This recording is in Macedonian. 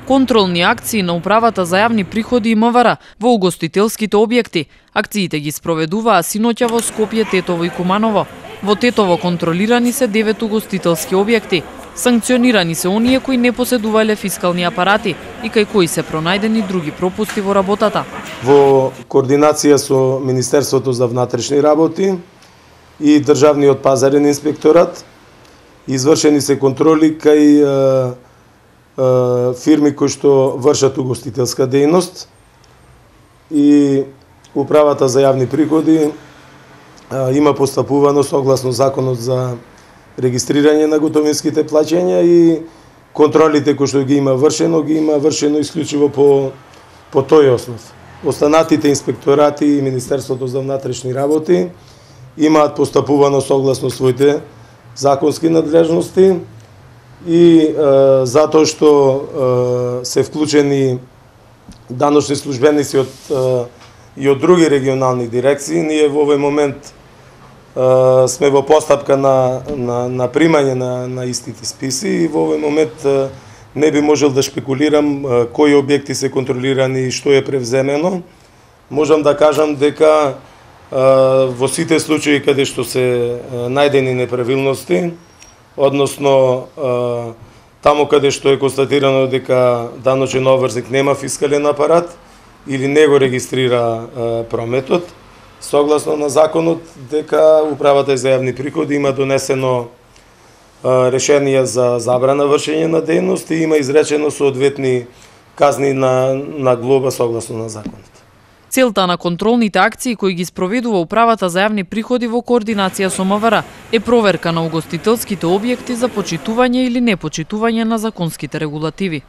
Контролни акции на Управата за јавни приходи и МВР во угостителските објекти. Акциите ги спроведуваа синоќа во Скопје, Тетово и Куманово. Во Тетово контролирани се 9 угостителски објекти. Санкционирани се оние кои не поседувале фискални апарати и кај кои се пронајдени други пропусти во работата. Во координација со Министерството за внатрешни работи и Државниот пазарен инспекторат извршени се контроли кај фирми кои што вршат угостителска дејност и Управата за јавни приходи има постапувано согласно Законот за регистрирање на готовинските плаќања и контролите кои што ги има вршено исклучиво по тој основ. Останатите инспекторати и Министерството за внатрешни работи имаат постапувано согласно своите законски надлежности и затоа што се вклучени даночни службеници и од други регионални дирекции, ние во овој момент сме во постапка на примање на истите списи и во овој момент не би можел да шпекулирам кои објекти се контролирани и што е превземено. Можам да кажам дека во сите случаи каде што се најдени неправилности, односно таму каде што е констатирано дека даночен обврзник нема фискален апарат или не го регистрира прометот, согласно на законот дека Управата за јавни приходи има донесено решение за забрана вршење на дејност и има изречено соодветни казни на глоба согласно на законот. Целта на контролните акции кои ги спроведува Управата за јавни приходи во координација со МВР е проверка на угостителските објекти за почитување или непочитување на законските регулативи.